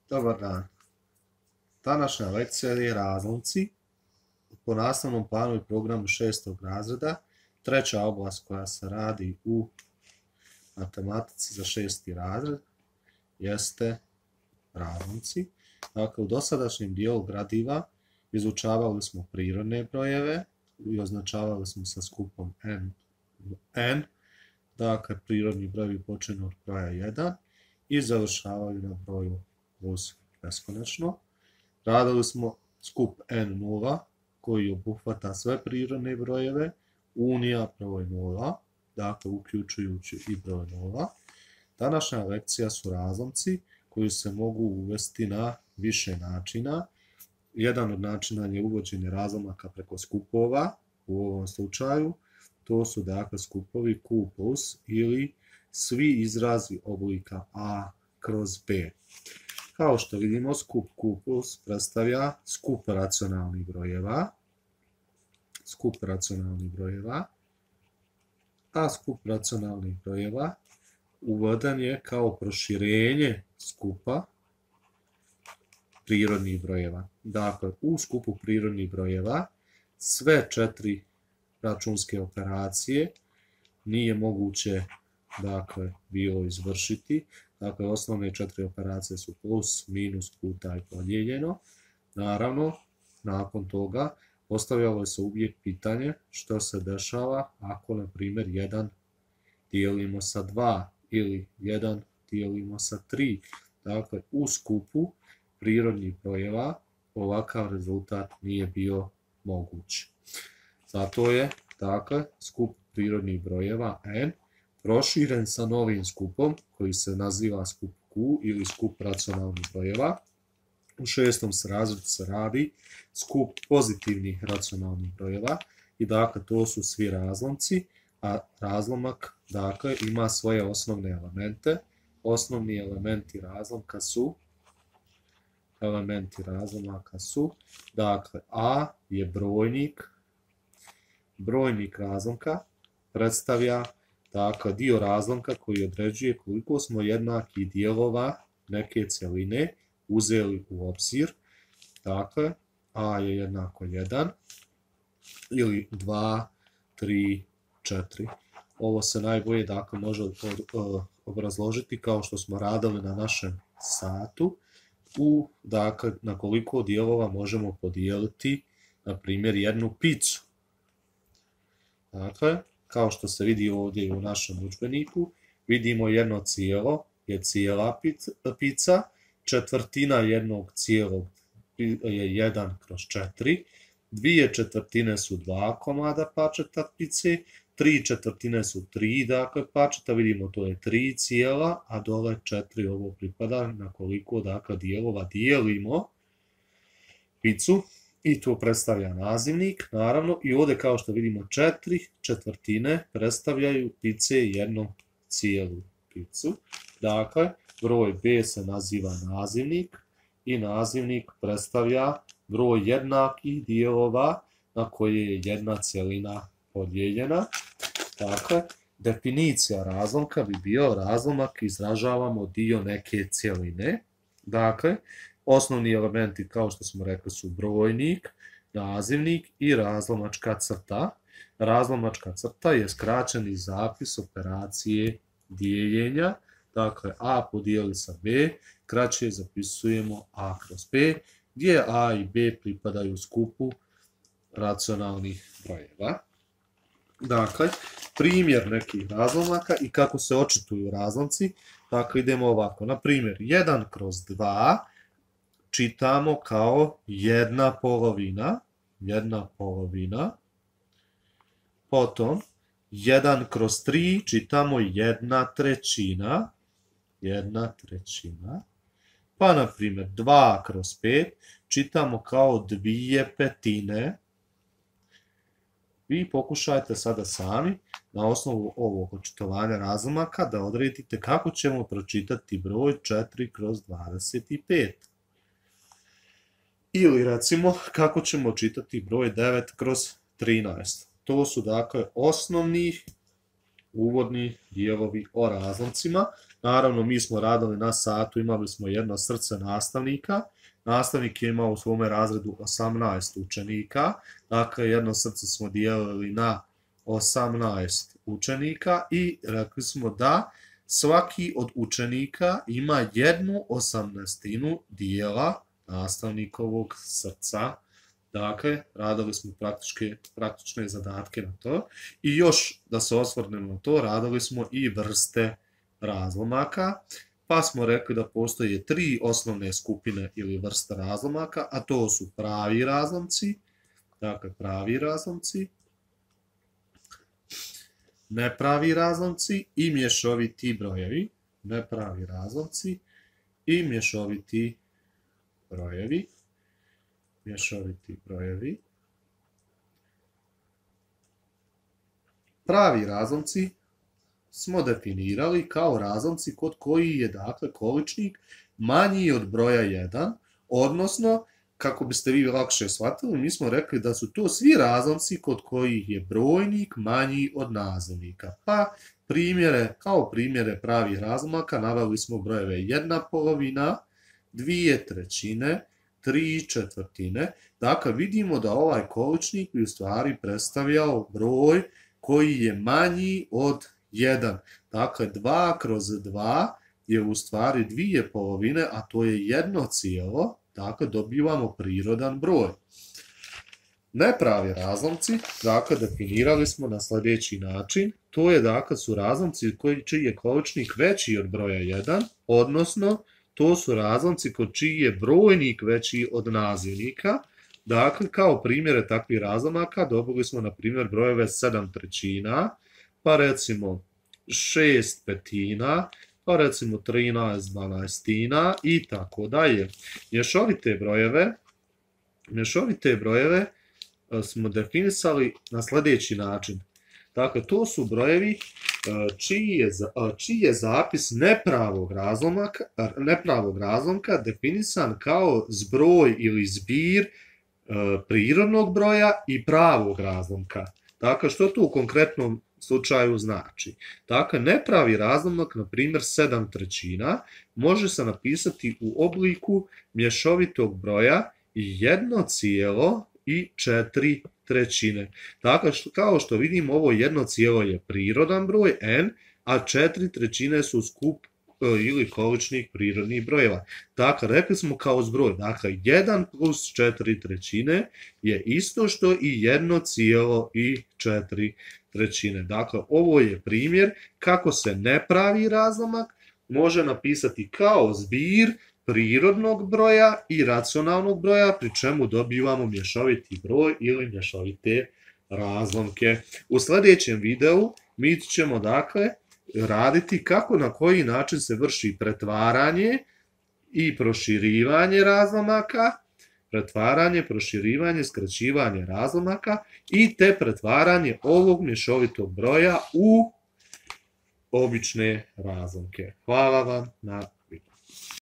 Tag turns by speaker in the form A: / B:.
A: Dobar dan. Današnja lekcija je razlomci po nastavnom planu i programu 6. razreda. Treća oblast koja se radi u matematici za 6. razred jeste razlomci. Dakle, u dosadašnjem dijelu gradiva izučavali smo prirodne brojeve i označavali smo sa skupom n. Dakle, prirodni brojevi počinju od broja 1 i završavaju na broju plus beskonačno. Radili smo skup n0 koji obuhvata sve prirodne brojeve, unija broj 0, dakle uključujući i broj 0. Današnja lekcija su razlomci koji se mogu uvesti na više načina. Jedan od načina je uvođenje razlomaka preko skupova, u ovom slučaju to su dakle skupovi q plus ili svi izrazi oblika a kroz b. Kao što vidimo, skup q plus predstavlja skup racionalnih brojeva, a skup racionalnih brojeva uveden je kao proširenje skupa prirodnih brojeva. Dakle, u skupu prirodnih brojeva sve 4 računske operacije nije moguće bilo izvršiti. Dakle, osnovne 4 operacije su plus, minus, puta i podijeljeno. Naravno, nakon toga postavljalo se uvijek pitanje što se dešava ako, na primjer, 1 dijelimo sa 2 ili 1 dijelimo sa 3. Dakle, u skupu prirodnih brojeva ovakav rezultat nije bio moguć. Zato je, dakle, skup prirodnih brojeva n proširen sa novim skupom koji se naziva skup q ili skup racionalnih brojeva. U 6. razredu se radi skup pozitivnih racionalnih brojeva i dakle to su svi razlomci, a razlomak dakle ima svoje osnovne elemente. Osnovni elementi razlomaka su dakle a je brojnik razlomka predstavlja dakle dio razlomka koji određuje koliko smo jednakih dijelova neke cjeline uzeli u obzir. Dakle, a je jednako 1 ili 2, 3, 4. Ovo se najbolje dakle može obrazložiti kao što smo radili na našem satu, dakle na koliko dijelova možemo podijeliti na primjer jednu picu. Dakle, kao što se vidi ovdje u našem udžbeniku, vidimo jedno cijelo je cijela pica, četvrtina jednog cijelog je 1 kroz 4, 2/4 su 2 komada pačeta pice, 3/4 su 3 dakle pačeta, vidimo to je 3 cijela, a dole 4 ovo pripada na koliko dakle dijelova dijelimo picu. I to predstavlja nazivnik, naravno, i ovdje kao što vidimo 4/4 predstavljaju pice jednu cijelu picu. Dakle, broj b se naziva nazivnik i nazivnik predstavlja broj jednakih dijelova na koje je jedna cjelina podijeljena. Dakle, definicija razlomka bi bio razlomak izražavamo dio neke cjeline. Dakle, osnovni elementi, kao što smo rekli, su brojnik, nazivnik i razlomačka crta. Razlomačka crta je skraćeni zapis operacije dijeljenja. Dakle, a podijeli sa b, kraće zapisujemo a kroz b, gdje a i b pripadaju skupu racionalnih brojeva. Dakle, primjer nekih razlomaka i kako se očituju razlomci. Dakle, idemo ovako. Na primjer, 1 kroz 2 čitamo kao jedna polovina, potom 1 kroz 3 čitamo 1/3, pa na primjer 2 kroz 5 čitamo kao 2/5. Vi pokušajte sada sami na osnovu ovog očitovanja razlomaka da odredite kako ćemo pročitati broj 4 kroz 25. Ili recimo kako ćemo čitati broj 9 kroz 13. To su dakle osnovni uvodni dijelovi o razlomcima. Naravno, mi smo radili na satu, imali smo jedno srce nastavnika. Nastavnik je imao u svome razredu 18 učenika, dakle jedno srce smo dijelili na 18 učenika i rekli smo da svaki od učenika ima 1/18 dijela nastavnikovog srca. Dakle, radili smo praktične zadatke na to. I još da se osvrnemo na to, radili smo i vrste razlomaka, pa smo rekli da postoje 3 osnovne skupine ili vrste razlomaka, a to su pravi razlomci, dakle pravi razlomci, nepravi razlomci i mješoviti brojevi. Nepravi razlomci i mješoviti brojevi. Mješoviti brojevi. Pravi razlomci smo definirali kao razlomci kod koji je dakle količnik manji od broja 1, odnosno, kako biste vi lakše shvatili, mi smo rekli da su to svi razlomci kod kojih je brojnik manji od nazivnika. Pa kao primjere pravih razlomaka naveli smo brojeve 1/2, 2/3, 3/4. Dakle, vidimo da ovaj količnik bi u stvari predstavljao broj koji je manji od 1. Dakle, 2/2 je u stvari 2/2, a to je 1 cijelo. Dakle, dobivamo prirodan broj. Nepravi razlomci, dakle, definirali smo na sljedeći način. To je, dakle, su razlomci čiji je količnik veći od broja 1, odnosno, to su razlomci kod čiji je brojnik veći od nazivnika. Dakle, kao primjere takvih razlomaka dobili smo, na primjer, brojeve 7/3, pa recimo 6/5, pa recimo 13/12 i tako dalje. Mješovite brojeve smo definisali na sljedeći način. Dakle, to su brojevi čiji je zapis nepravog razlomka definisan kao zbroj ili zbir prirodnog broja i pravog razlomka. Dakle, što to u konkretnom slučaju znači? Dakle, nepravi razlomak, na primjer 7/3, može se napisati u obliku mješovitog broja 1,4. Dakle, kao što vidimo, ovo 1 cijelo je prirodan broj n, a 4/3 su skup ili količnik prirodnih brojeva. Dakle, rekli smo kao zbroj, dakle 1 plus 4/3 je isto što i 1,4. Dakle, ovo je primjer kako se nepravi razlomak može napisati kao zbir prirodnog broja i racionalnog broja, pri čemu dobivamo mješoviti broj ili mješovite razlomke. U sljedećem videu mi ćemo, dakle, raditi kako, na koji način se vrši pretvaranje i proširivanje razlomaka, pretvaranje, proširivanje, skraćivanje razlomaka i te pretvaranje ovog mješovitog broja u obične razlomke. Hvala vam na